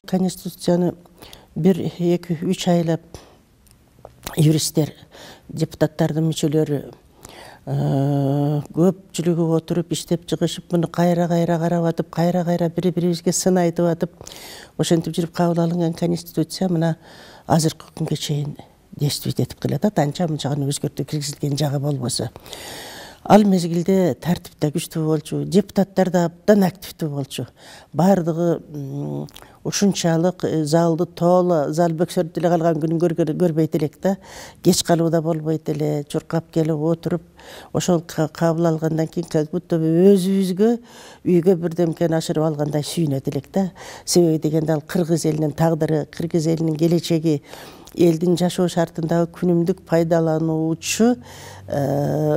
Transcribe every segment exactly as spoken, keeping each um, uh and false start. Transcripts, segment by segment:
Конституцияны бир эки үч айлап юристтер, депутаттардын мүчөлөрү көпчүлүгү отуруп иштеп чыгышып, муну кайра-кайра карап атып, кайра-кайра бири-бирибизге сын айтып атып, ошентип жүрүп кабыл алынган конституция мына азыркы күнгө чейин действовать этип келатат, анча-мынча гана өзгөртүү киргизилген жагы болбосо. Ал мезгилде тартип да күчтүү болчу, депутаттар да абдан активдүү болчу. Бардыгы ушунчалык залды тооло, зал бөксөрүп деле калган күнүн көрбөйт элек да. Кеч калуу да болбойт эле, чуркап келип отуруп, ошол кабыл алгандан кийин как будто өзүбүзгө үйгө бирдемкени ашырып алгандай сүйүнөт элек да. Себеби дегенде ал кыргыз элинин тагдыры, кыргыз элинин келечеги, элдин жашоо шартындагы күнүмдүк пайдалануучу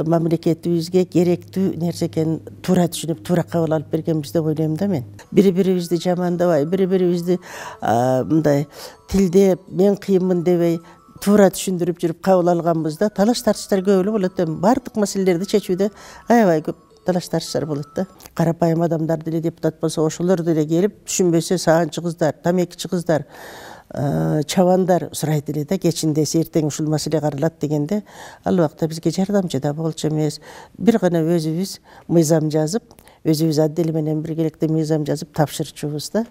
мамлекетибизге керектүү нерсе экенин туура түшүнүп, туура кабыл алып бергенбиз деп ойлойм да мен. Бири-бирибизди жамандабай, бири-бирибизди мындай тилдеп, мен кыйынмын дебей, туура түшүндүрүп жүрүп кабыл алганбыз да. Талаш тартыштар көп эле болот эми. Бардык маселелерди чечүүдө аябай көп талаш тартыштар болот да. Карапайым адамдар деле депутат болсо, ошолор деле келип, түшүнбөсө саганчы кыздар, тамекичи кыздар, чабандар сурайт эле да, кечиндеси эртең ушул маселе каралат дегенде, ал убакта бизге жардамчы да болчу эмес. Бир гана өзүбүз мыйзам жазып, өзүбүз отдел менен биргеликте мыйзам жазып тапшырчубуз да.